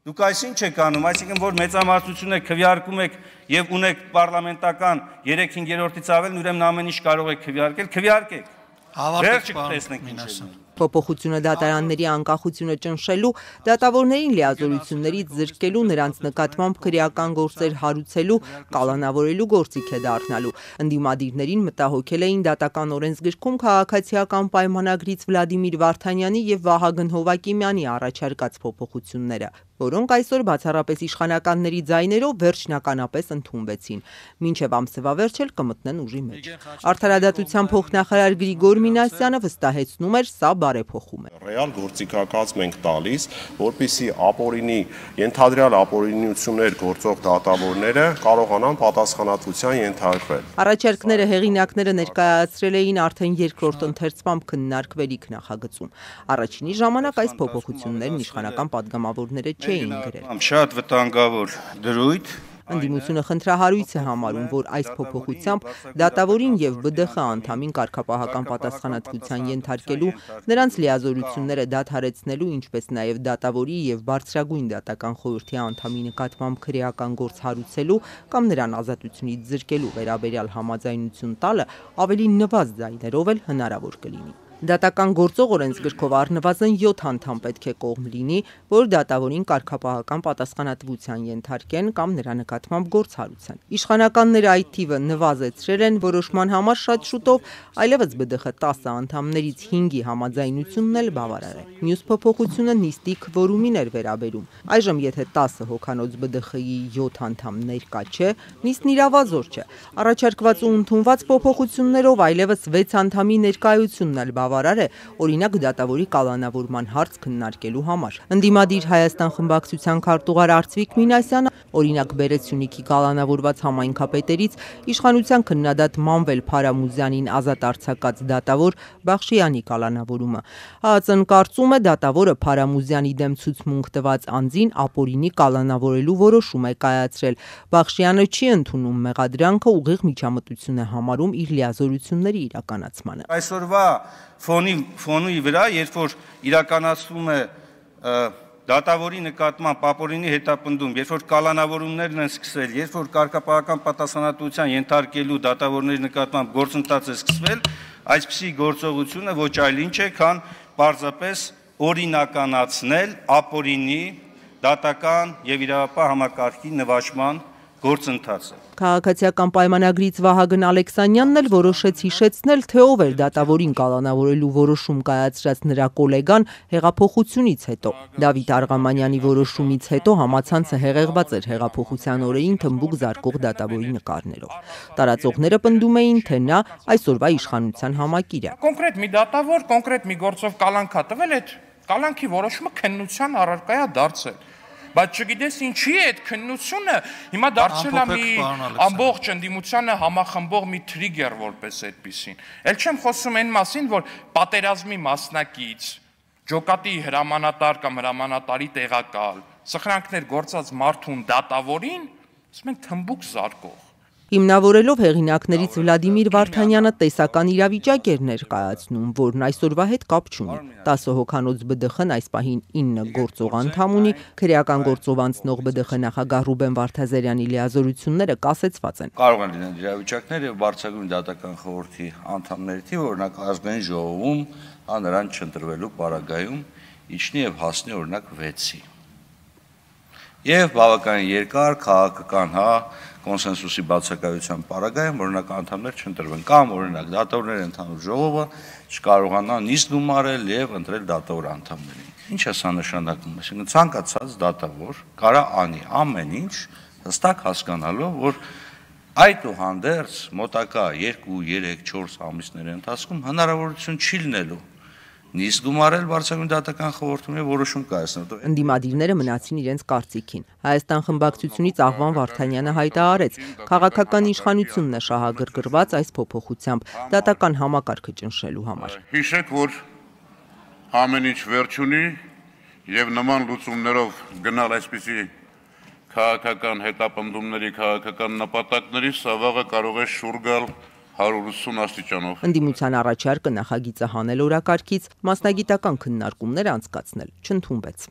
Դուք այսինչ եք անում, այսինքն որ մեծամասնություն եք քվեարկում եք եւ ունեք պարլամենտական 3/5-ից ավելն, ուրեմն ամեն ինչ կարող եք քվեարկել, քվեարկեք։ Վերջը կտեսնենք ինչ է։ Փոփոխությունը դատարանների անկախությունը ճնշելու, դատավորներին լիազորություններից զրկելու, նրանց նկատմամբ քրեական գործեր հարուցելու, կալանավորելու գործիք է դառնալու։ Ընդդիմադիրներին մտահոգել էին դատական օրենսգրքում քաղաքացիական պայմանագրից Վլադիմիր Վարդանյանի եւ Վահագն Հովակիմյանի առաջարկած փոփոխությունները, որոնք այսօր բացառապես իշխանականների ձայներով վերջնականապես ընդունվեցին, մինչև ամսվա վերջը կմտնեն ուժի մեջ։ Արդարադատության փոխնախարար Գրիգոր Մինասյանը վստահեցնում էր, սա բարեփոխում է։ Ռեալ գործիքակազմ ենք տալիս, որպեսզի ապօրինի, ենթադրյալ ապօրինություններ գործող դատավորները կարողանան պատասխանատվության ենթարկվել։ Առաջարկները հեղինակները ներկայացրել էին արդեն երկրորդ ընթերցմամբ քննարկվելիք նախագծում։ Առաջինի ժամանակ այս փոփոխություններն իշխանական падգամավորները չէին գրել։ Շատ վտանգավոր դրույթ։ Ընդդիմությունը խնդրահարույց է համարում, որ այս փոփոխությամբ դատավորին եւ ԲԴԽ անդամին կարգապահական պատասխանատվության ենթարկելու, նրանց լիազորությունները դադարեցնելու, ինչպես նաեւ դատավորի եւ բարձրագույն դատական խորհրդի անդամի նկատմամբ քրեական գործ հարուցելու կամ նրան ազատությունից զրկելու վերաբերյալ համաձայնություն տալը ավելի նվազ ձայներով էլ հնարավոր կլինի։ Դատական գործող օրենսգրքով առնվազն 7 անդամ պետք է կողմ լինի, որ դատավորին կարգապահական պատասխանատվության ենթարկեն կամ նրա նկատմամբ գործ հարուցեն։ Իշխանականները այդ թիվը նվազեցրել են, որոշման համար շատ շուտով այլևս ԲԴԽ 10 անդամներից 5-ի համաձայնությունն էլ բավարար է։ Մյուս փոփոխությունը նիստի քվորումին էր վերաբերում։ Այժմ եթե 10 հոգանոց ԲԴԽ-ի 7 անդամ ներկա չէ, նիստն իրավազոր չէ։ Առաջարկված ու ընդունված փոփոխություններով այլևս 6 անդամի ներկայությունն էլ բավարար է, օրինակ դատավորի կալանավորման հարց քննարկելու համար։ Ընդդիմադիր Հայաստան խմբակցության քարտուղար Արծվիկ Մինասյանը օրինակ բերեց Սյունիքի կալանավորված համայնքապետերից իշխանության քննադատ Մանվել Փարամուզյանին ազատ արձակած դատավոր Բախշյանի կալանավորումը։ ՀԱԾ-ն կարծում է դատավորը Փարամուզյանի դեմ ցուցմունք տված անձին ապօրինի կալանավորելու որոշում է կայացրել։ Բախշյանը չի ընդունում մեղադրանքը, ուղիղ միջամտություն է համարում իր լիազորությունների իրականացմանը։ Այսօրվա ֆոնի վրա, երբ որ իրականացվում է դատավորի նկատմամբ ապօրինի հետապնդում, երբ որ կալանավորումներն են սկսվել, երբ որ կարգապահական պատասխանատվության ենթարկելու դատավորների նկատմամբ գործընթաց է սկսվել, այսպիսի գործողությունը ոչ այլ ինչ է, քան պարզապես օրինականացնել ապօրինի դատական եւ իրավապահ համակարգի նվաճման գործընթացը։ Քաղաքացիական պայմանագրից Վահագն Ալեքսանյանն էլ որոշեց հիշեցնել, թե ով էր դատավորին կալանավորելու որոշում կայացրած նրա կոլեգան հեղափոխությունից հետո։ Դավիթ Արղամանյանի որոշումից հետո համացանցը հեղեղված էր հեղափոխության օրերին թմբուկ զարկող դատավորի նկարներով։ Տարածողները պնդում էին, թե նա այսօրվա իշխանության համակիր է։ Կոնկրետ մի դատավոր, կոնկրետ մի գործով կալանք է տվել, այդ կալանքի որոշումը քննության առարկա է դարձել։ Բայց չգիտես ինչի է այդ քննությունը հիմա դարձել է մի ամբողջ ընդդիմությանը համախմբող մի թրիգեր որպես այդպեսին։ Էլ չեմ խոսում այն մասին, որ պատերազմի մասնակից, ջոկատի հրամանատար կամ հրամանատարի տեղակալ, սխրանքներ գործած մարդուն դատավորին, ասում են թմբուկ զարկող։ Հիմնավորելով հեղինակներից Վլադիմիր Վարդանյանը տեսական իրավիճակ էր ներկայացնում, որն այսօրվա հետ կապ չունի։ 10 հոգանոց ԲԴԽ-ն այս պահին 9 գործող անդամ ունի, քրեական գործով անցնող ԲԴԽ նախագահ Ռուբեն Վարդազարյանի լիազորությունները կասեցված են։ Կարող են լինել իրավիճակներ եւ բարձրագույն դատական խորհրդի անդամների թիվը, օրինակ ազգային ժողովում, նրան չընտրվելու պարագայում իջնի եւ հասնի օրինակ 6-ի։ Եվ բավականին երկար քաղաքական կոնսենսուսի բացակայության պարագայում օրինակ անդամներ չընտրվեն կամ օրինակ դատավորների ընդհանուր ժողովը չկարողանա նիստ գումարել եւ ընտրել դատավոր անդամներին։ Ինչ է սա նշանակում, այսինքն ցանկացած դատավոր կարա անի ամեն ինչ հստակ հասկանալով, որ այդուհանդերձ մոտակա 2, 3, 4 ամիսների ընթացքում հնարավորություն չի լինելու նիստ գումարել բարձրագույն դատական խորհրդում եւ որոշում կայացնել։ Ընդդիմադիրները մնացին իրենց կարծիքին։ Հայաստան խմբակցությունից Աղվան Վարդանյանը հայտարարեց, քաղաքական իշխանությունն է շահագրգռված այս փոփոխությամբ դատական համակարգը ճնշելու համար։ Հիշեք, որ ամեն ինչ վերջ ունի եւ նման լուծումներով գնալ այսպիսի քաղաքական հետապնդումների, քաղաքական նպատակների, սա վաղը կարող է շուռ գալ 180 աստիճանով։ Ընդդիմության առաջարկը նախագիծը հանել օրակարգից, մասնագիտական քննարկումներ անցկացնել չընդունվեց։